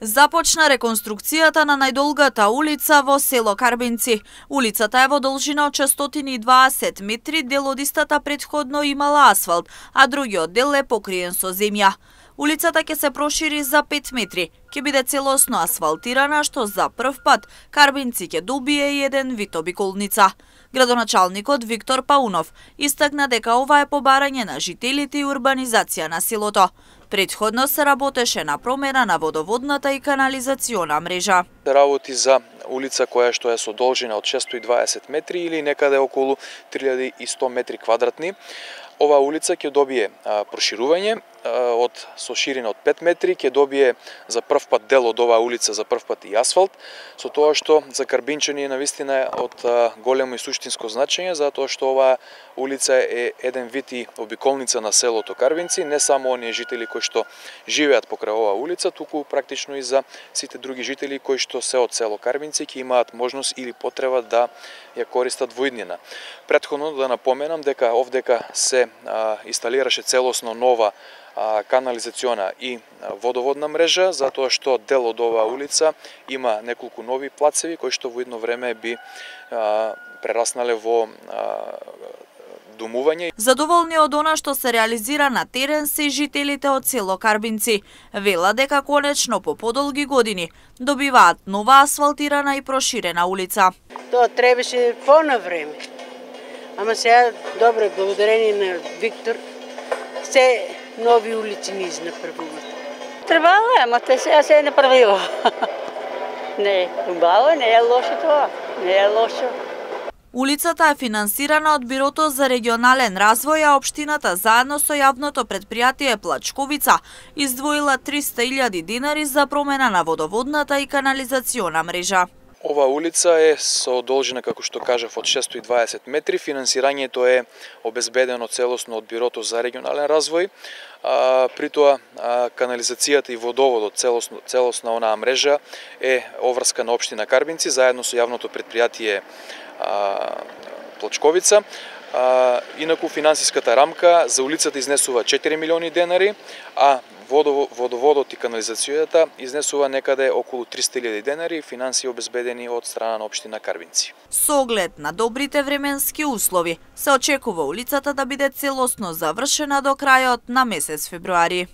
Започна реконструкцијата на најдолгата улица во село Карбинци. Улицата е во должина од 620 метри, дел од истата претходно имала асфалт, а другиот дел е покриен со земја. Улицата ќе се прошири за 5 метри, ќе биде целосно асфалтирана, што за прв пат Карбинци ќе добие и еден вид обиколница. Градоначалникот Виктор Паунов истакна дека ова е побарање на жителите и урбанизација на селото. Претходно се работеше на промена на водоводната и канализациона мрежа. Работи за улица која што е со должина од 620 метри или некаде околу 3100 метри квадратни. Ова улица ќе добие проширување со ширина од 5 метри, ќе добие за прв пат дел од оваа улица, за прв пат и асфалт, со тоа што за карбинчани е навистина од големо и суштинско значење, затоа што оваа улица е еден вид и обиколница на селото Карбинци, не само оние жители кои што живеат покрај оваа улица, туку практично и за сите други жители кои што се од село Карбинци ќе имаат можност или потреба да ја користат во иднина. Претходно да напоменам дека овдека се инсталираше целосно нова канализациона и водоводна мрежа, затоа што дел од оваа улица има неколку нови плацеви кои што во едно време би прераснале во домување. Задоволни од она што се реализира на терен се и жителите од село Карбинци. Вела дека конечно по подолги години добиваат нова асфалтирана и проширена улица. Тоа требаше на време. Ама сега добро, благодарение на Виктор, се нови улици ни направуваат. Требало е, ама те сега се е направило. Не е убаво, не е лошо тоа. Не е лошо. Улицата е финансирана од Бирото за регионален развој, а општината заедно со јавното претпријатие Плачковица издвоила 300.000 динари за промена на водоводната и канализациона мрежа. Ова улица е со должина, како што кажав, од 620 метри. Финансирањето е обезбедено целосно од Бирото за регионален развој. При тоа канализацијата и водоводот, целосна онаа мрежа е оврска на општина Карбинци заедно со јавното претпријатие Плачковица. Инаку финансиската рамка за улицата изнесува 4 милиони денари, а водоводот и канализацијата изнесува некаде околу 300.000 денари, финансии обезбедени од страна на општина Карбинци. Со оглед на добрите временски услови, се очекува улицата да биде целосно завршена до крајот на месец февруари.